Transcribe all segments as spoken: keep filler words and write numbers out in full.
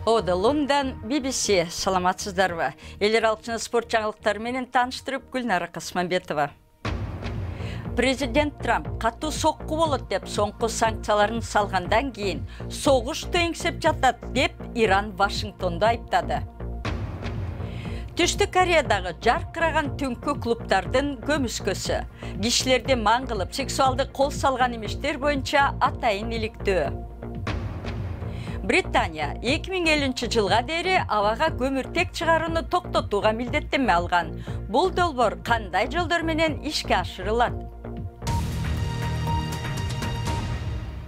Ода Лондон би би си. Саламатсыздарбы? Элер алчыны спорт жаңылыктары менен тааныштырып Гүлнара Касманбетова. Президент Трамп катуу сокку болот деп соңку санкцияларын салгандан кийин согушту эңсеп жатат деп Иран Вашингтонду айыптады. Түштүк Кореядагы жаркыраган түнкү клубдардын көмүскөсү. Кишилерди маң кылып, сексуалдык кол салган имиштер боюнча атайын иликтөө. Британия эки миң элүүнчү жылга дейин абага көмүртек чыгарууну токтотууга милдеттенме алган. Бул долбоор кандай жолдор менен ишке ашырылат?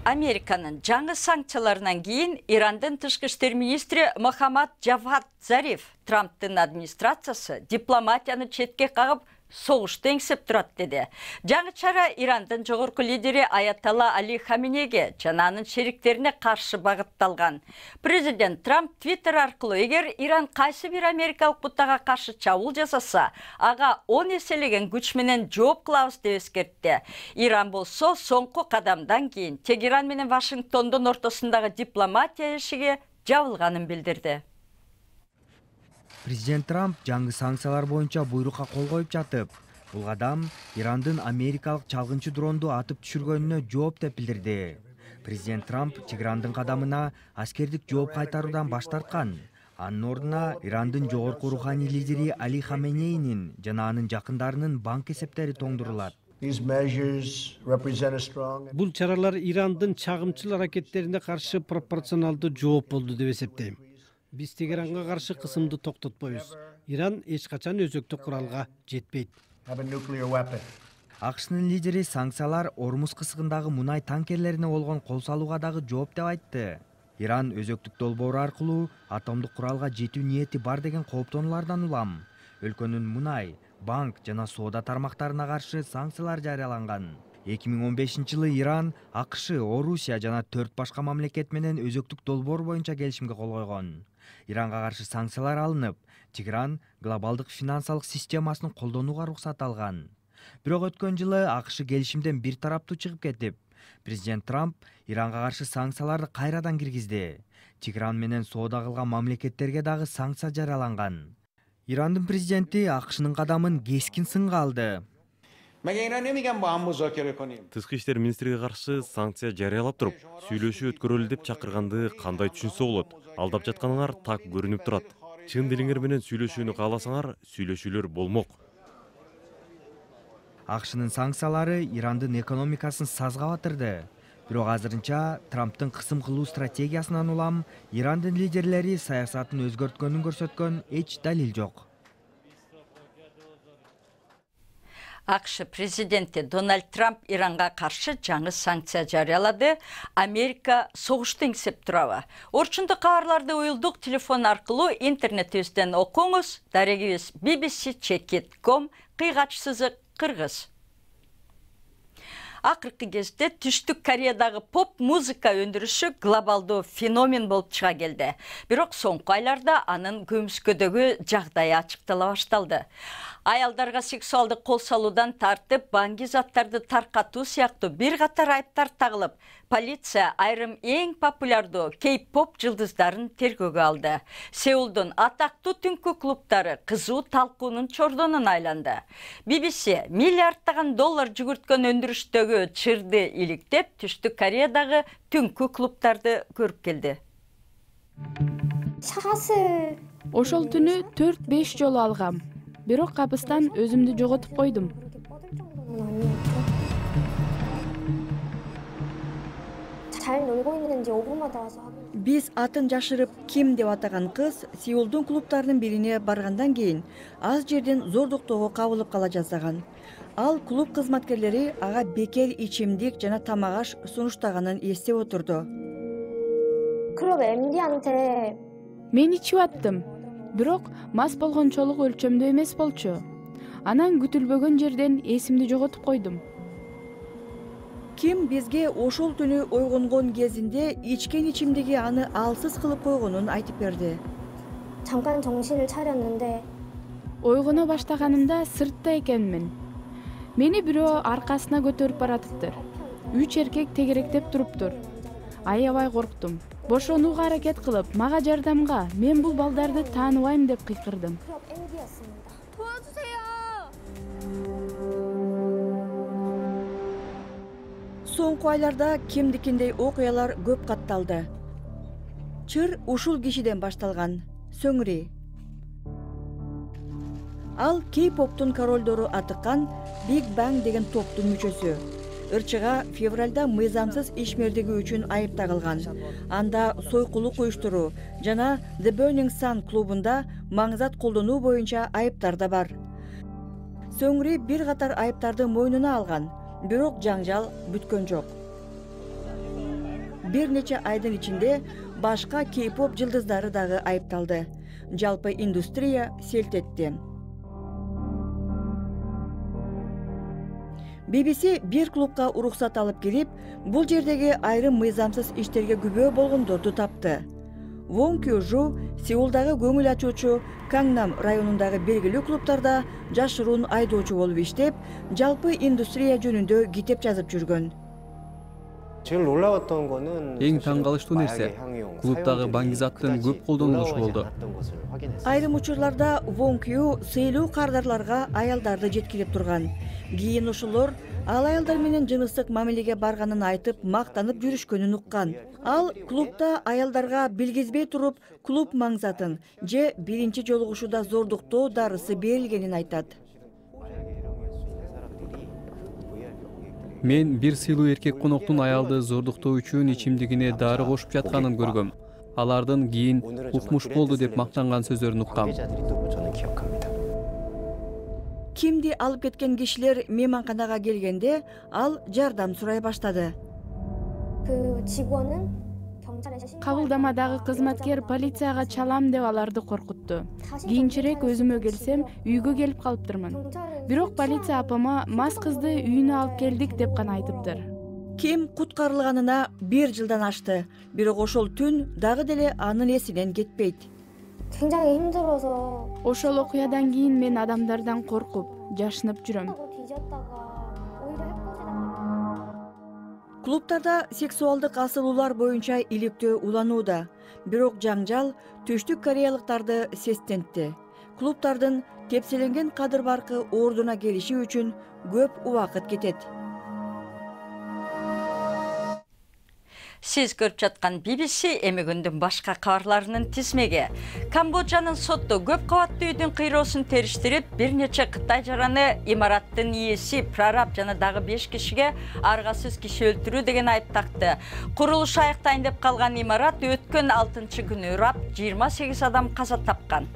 Американын жаңы санкцияларынан кийин Ирандын тышкы иштер министри Мохаммад Джавад Зариф Трамптын администрациясы дипломатияны четке кагып согушту эңсеп турат деди. Жаңы чара Ирандын жогорку лидери Аятолла Али Хаменейге жана анын шериктерине каршы багытталган. Президент Трамп Твиттер аркылуу эгер Иран кайсы бир америкалык бутага каршы чабуул жасаса, ага он эселеген күч менен жооп кылабыз деп эскертти. Иран болсо соңку кадамдан кийин Тегеран менен Вашингтондун ортосундагы дипломатия эшиги жабылганын билдирди. Президент Трамп жаңы санкциялар боюнча буйрукка кол коюп жатып, бул кадам Ирандын америкалык чалгынчы дронду атып түшүргөнүнө жооп деп билдирди. Президент Трамп Тегерандын кадамына аскердик жооп кайтаруудан баш тарткан. Анын ордуна Ирандын жогорку руханий лидери Али Хаменейнин жана анын жакындарынын банк эсептери тоңдурулат. Бул чаралар Ирандын чагымчыл аракеттерине каршы пропорционалдуу жооп болду деп эсептейм. Биз Тегеранга каршы кысымды токтотпойбуз. Иран эч качан өзөктүк куралга жетпейт. АКШнын лидери санкциялар Ормуз кысыгындагы мунай танкерлерине болгон кол салууга дагы жооп деп айтты. Иран өзөктүк долбоору аркылуу атомдук куралга жетүү ниети бар деген кооптонуулардан улам. Өлкөнүн мунай, банк жана соода тармактарына каршы санкциялар жарыяланган. эки миң он бешинчи жылы Иран, АКШ, Орусия жана төрт башка мамлекет менен өзөктүк долбоор боюнча келишимге кол койгон. Иранга каршы санкциялар алынып, Тегеран глобалдык финансылык системасын колдонууга уруксат алган. Бирок өткөн жылы АКШ келишимден бир тараптуу чыгып кетип, президент Трамп Иранга каршы санкцияларды кайрадан киргизди. Тегеран менен соода кылган мамлекеттерге дагы санкция жарыяланган. Ирандын президенти АКШнын кадамын кескин сынга алды. Тышкы иштер министриге каршы санкция жарыялап туруп, сүйлөшүү өткөрөлү деп чакырганды кандай түшүнсө болот? Алдап жатканыңар так көрүнүп турат. Чын дилиңер менен сүйлөшүүнү кааласаңар, сүйлөшүүлөр болмок. АКШнын санкциялары Ирандын экономикасын сазга батырды. Бирок азырынча Трамптын кысым кылуу стратегиясынан улам Ирандын лидерлери саясатын өзгөрткөнүн көрсөткөн эч далил жок. АКШ президенти Дональд Трамп Иранга каршы жаңы санкция жарыялады. Америка согушту эңсеп турабы? Орчундук кабарларды уюлдук телефон аркылуу интернетибизден окуңуз. Дарегибиз би би си чекит точка ком кыйгач сызык кыргыз. Акыркы кезде Түштүк Кореядагы поп музыка өндүрүшү глобалдуу феномен болуп чыга келди. Бирок соңку айларда анын көмүскөдөгү жагдайы ачыктала башталды. Аялдарга сексуалдык кол салуудан тартып, баңги заттарды таркатуу сыяктуу бир катар айыптар тагылып, полиция айрым эң популярдуу кей-поп жылдыздарын тергөөгө алды. Сеулдун атактуу түнкү клубдары кызуу талкуунун чордонуна айланды. би би си миллиарддаган доллар жүгүрткөн өндүрүштөгү чырды иликтеп, Түштүк Кореядагы түнкү клубдарды көрүп келди. Ошол түнү төрт беш жолу алгам. Бирок капыстан өзүмдү жоготуп койдум. Биз атын жашырып Ким деп атаган кыз Сеулдун клубтарынын бирине баргандан кийин аз жерден зордуктоого кабылып кала жаздаган. Ал клуб кызматкерлери ага бекер ичимдик жана тамак аш сунуштаганын эстеп отурду. Мен ичип аттым. Бирок мас болгончолук өлчөмдө эмес болчу. Анан күтүлбөгөн жерден эсимди жоготуп койдум. Ким бизге ошол түнү ойгонгон кезинде ичкен ичимдиги аны алсыз кылып койгонун айтып берди. Ойгоно баштаганымда сыртта экенмин. Мени бирөө аркасына көтөрүп баратыптыр. Үч эркек тегеректеп туруптур. Аябай корктум. Бошонууга аракет кылып, мага жардамга, мен бул балдарды тааныбайм деп кыйкырдым. Соңку айларда кемдикиндей окуялар көп катталды. Чыр ушул кишиден башталган. Сөңри. Ал кей-поптун королдору атыккан Big Bang деген топтун мүчөсү. Ырчыга февралда мыйзамсыз ишмердиги үчүн айыпталган. Анда сойкулук уюштуруу жана The Burning Sun клубунда маңзат колдонуу боюнча айыптар да бар. Сөңри бир катар айыптарды мойнуна алган, бирок жаңжал бүткөн жок. Бир нече айдын ичинде башка кей-поп жылдыздары дагы айыпталды. Жалпы индустрия селт этти. би би си бир клубка уруксат алып кирип, бул жердеги айрым мыйзамсыз иштерге күбө болгондорду тапты. Вон Кю-жу Сеулдагы көңүл ачуучу Кангнам районундагы белгилүү клубтарда жашыруун айдоочу болуп иштеп, жалпы индустрия жөнүндө китеп жазып жүргөн. Эң таң калыштуу нерсе клубдагы баңгизаттын көп колдонулушу болду. Айрым учурларда Вон Кю сыйлуу кардарларга аялдарды жеткирип турган. Кийин ошолор ал аялдар менен жыныстык мамилеге барганын айтып, мактанып жүрүшкөнүн уккан. Ал клубда аялдарга билгизбей туруп, клуб маңзатын же биринчи жолугушууда зордуктоо дарысы берилгенин айтат. Мен бир сыйлуу эркек коноктун аялды зордуктоо үчүн ичимдигине дары кошуп жатканын көргөм. Алардын кийин укмуш болду деп мактанган сөздөрүн уккам. Кимди алып кеткен кишилер мейманканага келгенде, ал жардам сурай баштады. Кабылдамадагы кызматкер полицияга чалам деп аларды коркутту. Кийинчерээк өзүмө келсем, үйгө келип калыптырмын. Бирок полиция апама мас кызды үйүнө алып келдик деп гана айтыптыр. Ким куткарылганына бир жылдан ашты. Бирок ошол түн дагы деле анын эсинен кетпейт. Ошол окуядан кийин мен адамдардан коркуп, жашынып жүрөм. Клубтарда сексуалдык асылуулар боюнча иликтөө уланууда. Бирок жаңжал түштүк кореялыктарды сестентти. Клубтардын тепселенген кадыр баркы ордуна келиши үчүн көп убакыт кетет. Сиз көрүп жаткан би би си эми күндүн башка кабарларынын тизмеги. Камбоджанын соту көп кабаттуу үйдүн кыйроосун териштирип, бир нече Кытай жараны имараттын ээси, прораб жана дагы беш кишиге аргасыз киши өлтүрүү деген айып такты. Курулуш аяктайын деп калган имарат өткөн алтынчы күнү урап, жыйырма сегиз адам каза тапкан.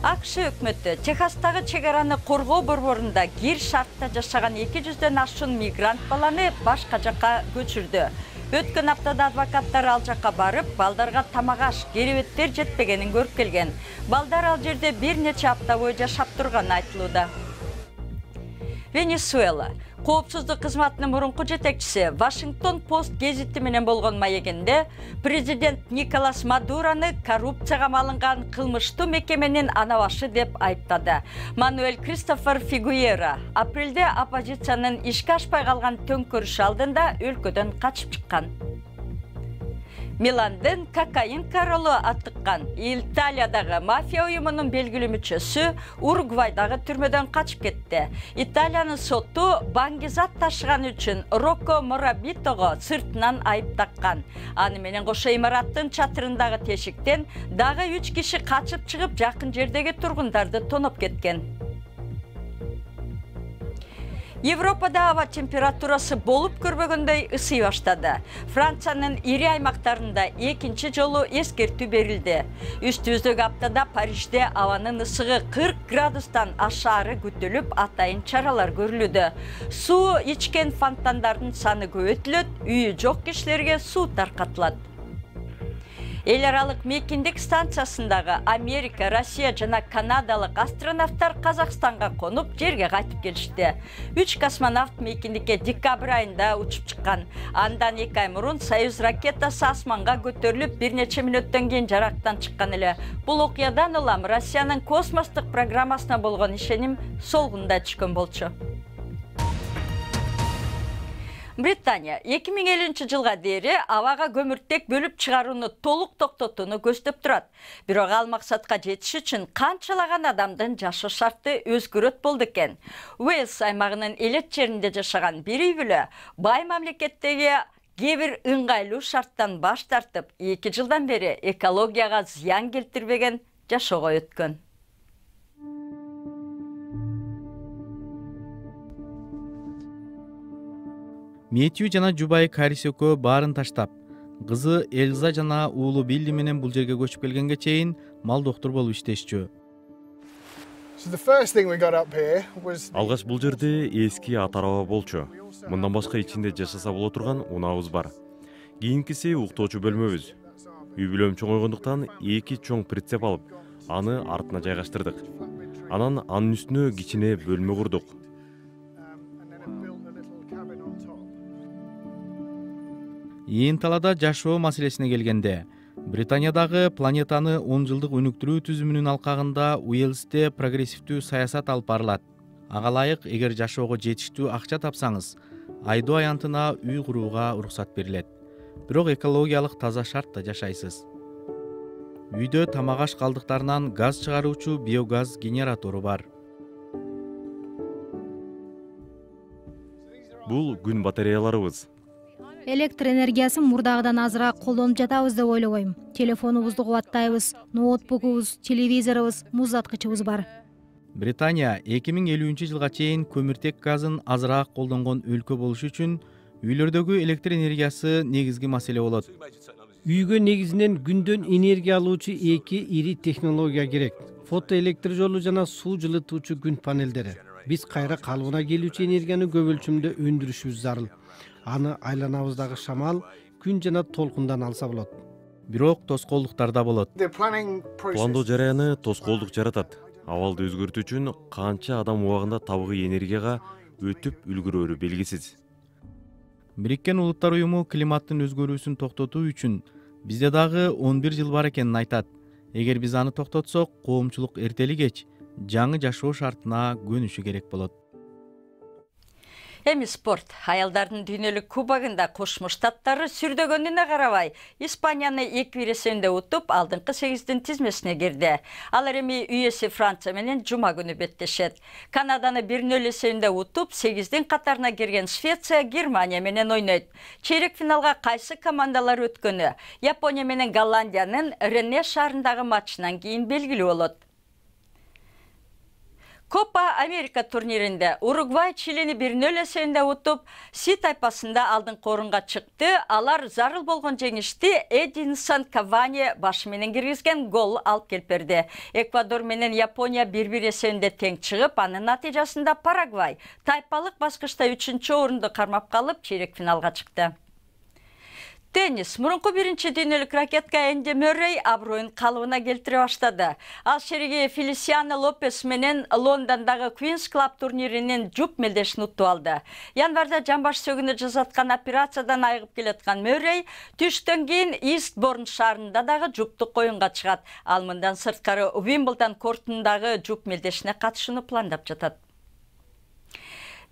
АКШ өкмөтү Техастагы чек араны коргоо борборунда кир шартта жашаган эки жүздөн ашуун мигрант баланы башка жакка көчүрдү. Өткөн аптада адвокаттар ал жакка барып, балдарга тамак аш, керебеттер жетпегенин көрүп келген. Балдар ал жерде бир нече апта бою жашап турганы айтылууда. Венесуэла коопсуздук кызматынын мурунку жетекчиси Вашингтон Пост гезити менен болгон маегинде президент Николас Мадурону коррупцияга малынган кылмыштуу мекеменин анабашы деп айыптады. Мануэль Кристофер Фигуэра апрелде оппозициянын ишке ашпай калган төңкөрүш алдында өлкөдөн качып чыккан. Миландын кокаин королу атыккан Италиядагы мафия уюмунун белгилүү мүчөсү Уругвайдагы түрмөдөн качып кетти. Италиянын соту баңгизат ташыган үчүн Рокко Морабитого сыртынан айып таккан. Аны менен кошо имараттын чатырындагы тешиктен дагы үч киши качып чыгып, жакын жердеги тургундарды тоноп кеткен. Европада аба температурасы болуп көрбөгөндөй ысый баштады. Франциянын ири аймактарында экинчи жолу эскертүү берилди. Үстүбүздөгү аптада Парижде абанын ысыгы кырк градустан ашаары күтүлүп, атайын чаралар көрүлүүдө. Суу ичкен фонтандардын саны көбөйтүлөт, үйү жок кишилерге суу таркатылат. Эл аралык мейкиндик станциясындагы Америка, Россия жана Канадалык астронавттар Казакстанга конуп, жерге кайтып келишти. Үч космонавт мейкиндикке декабрь айында учуп чыккан. Андан эки ай мурун Союз ракетасы асманга көтөрүлүп, бир нече мүнөттөн кийин жарактан чыккан эле. Бул окуядан улам Россиянын космостук программасына болгон ишеним солгунда түшкөн болчу. Британия эки миң элүүнчү жылга дейри абага көмүртек бөлүп чыгарууну толук токтотууну көздөп турат. Бирок ал максатка жетиш үчүн канчалаган адамдын жашоо шарты өзгөрөт болду экен. Уэльс аймагынын элет жеринде жашаган бир үй бүлө бай мамлекеттеги кээ бир ыңгайлуу шарттан баш тартып, эки жылдан бери экологияга зыян келтирбеген жашоого өткөн. Мэтью жана жубайы Карис экөө баарын таштап, кызы Эльза жана уулу Билли менен бул жерге көчүп келгенге чейин мал доктор болуп иштешчү. Алгач бул жерде эски ат-араба болчу. Мындан башка ичинде жашаса боло турган унаабыз бар. Кийинкиси уктоочу бөлмөбүз. Үй бүлөм чоңойгондуктан эки чоң прицеп алып, аны артына жайгаштырдык. Анан анын үстүнө кичине бөлмө курдук. Ээн талада жашоо маселесине келгенде, Британиядагы планетаны он жылдык өнүктүрүү түзүмүнүн алкагында Уэльсте прогрессивдүү саясат алып барылат. Ага ылайык, эгер жашоого жетиштүү акча тапсаңыз, айдоо аянтына үй курууга уруксат берилет. Бирок экологиялык таза шартта жашайсыз. Үйдө тамак аш калдыктарынан газ чыгаруучу биогаз генератору бар. Бул күн батареяларыбыз. Электр энергиясын мурдагыдан азыраак колдонуп жатабыз деп ойлобойм. Телефонубузду кубаттайбыз, ноутбугубуз, телевизорубуз, муздаткычыбыз бар. Британия эки миң элүүнчү жылга чейин көмүртек газын азыраак колдонгон өлкө болуш үчүн үйлөрдөгү электр энергиясы негизги маселе болот. Үйгө негизинен күндөн энергия алуучу эки ири технология керек. Фотоэлектр жолу жана суу жылытуучу күн панелдери. Биз кайра калыбына келүүчү энергияны көп өлчөмдө өндүрүшүбүз зарыл. Аны айланабыздагы шамал, күн жана толкундан алса болот. Бирок тоскоолдуктар да болот. Пландоо жараяны тоскоолдук жаратат. Абалды өзгөртүү үчүн канча адам убагында табигый энергияга өтүп үлгүрөөрү белгисиз. Бириккен Улуттар уюму климаттын өзгөрүүсүн токтотуу үчүн бизде дагы он бир жыл бар экенин айтат. Эгер биз аны токтотсок, коомчулук эртели кеч жаңы жашоо шартына көнүшү керек болот. Эми спорт. Аялдардын дүйнөлүк кубогунда Кошмо Штаттары сүрдөгөнүнө карабай, Испанияны эки бир эсебинде утуп, алдыңкы сегиздин тизмесине кирди. Алар эми үй эси Франция менен жума күнү беттешет. Канаданы бир нөл эсебинде утуп, сегиздин катарына кирген Швеция Германия менен ойнойт. Чейрек финалга кайсы командалар өткөнү Япония менен Голландиянын Рене шаарындагы матчынан кийин белгилүү болот. Копа Америка турниринде Уругвай Чилини бир нөл эсебинде утуп, Си тайпасында алдыңкы орунга чыкты. Алар зарыл болгон жеңишти Эдинсон Кавани башы менен киргизген гол алып келип берди. Эквадор менен Япония бир бир эсебинде тең чыгып, анын натыйжасында Парагвай тайпалык баскычта үчүнчү орунду кармап калып, чейрек финалга чыкты. Теннис. Мурунку биринчи дүйнөлүк ракетка Энди Мөррей аброюн калыбына келтире баштады. Ал шериги Фелисиано Лопес менен Лондондогу Queen's Club турниринин жуп мелдешин утуп алды. Январда жамбаш сөгүнү жасаткан операциядан айыгып келаткан Мөррей түштөн кийин Истборн шаарында дагы жуптук оюнга чыгат. Ал мындан сырткары Уимблдон кортундагы жуп мелдешине катышууну пландап жатат.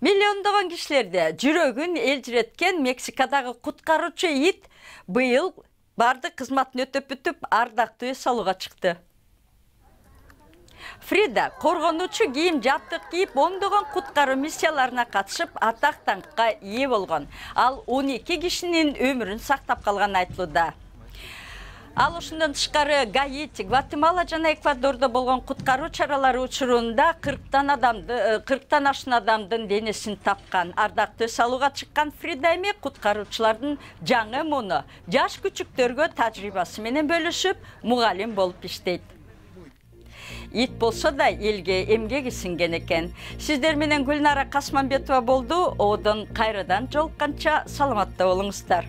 Миллиондогон кишилерде жүрөгүн элжиреткен Мексикадагы куткаруучу ит быйыл бардык кызматын өтөп бүтүп, ардактуу эс алууга чыкты. Фрида коргонуучу кийим жаптык кийип, ондогон куткаруу миссияларына катышып, атак даңкка ээ болгон. Ал он эки кишинин өмүрүн сактап калганы айтылууда. Ал ушундан тышкары Гаити, Гватемала жана Эквадордо болгон куткаруу чаралары учурунда кырктан адамды, кырктан ашын адамдын денесин тапкан. Ардактуу эс алууга чыккан Фрида эми куткаруучулардын жаңы муну жаш күчүктөргө тажрыйбасы менен бөлүшүп, мугалим болуп иштейт. Ит болсо да элге эмгеги сиңген экен. Сиздер менен Гүлнара Касманбетова болду. Одон кайрадан жолукканча саламатта болуңуздар.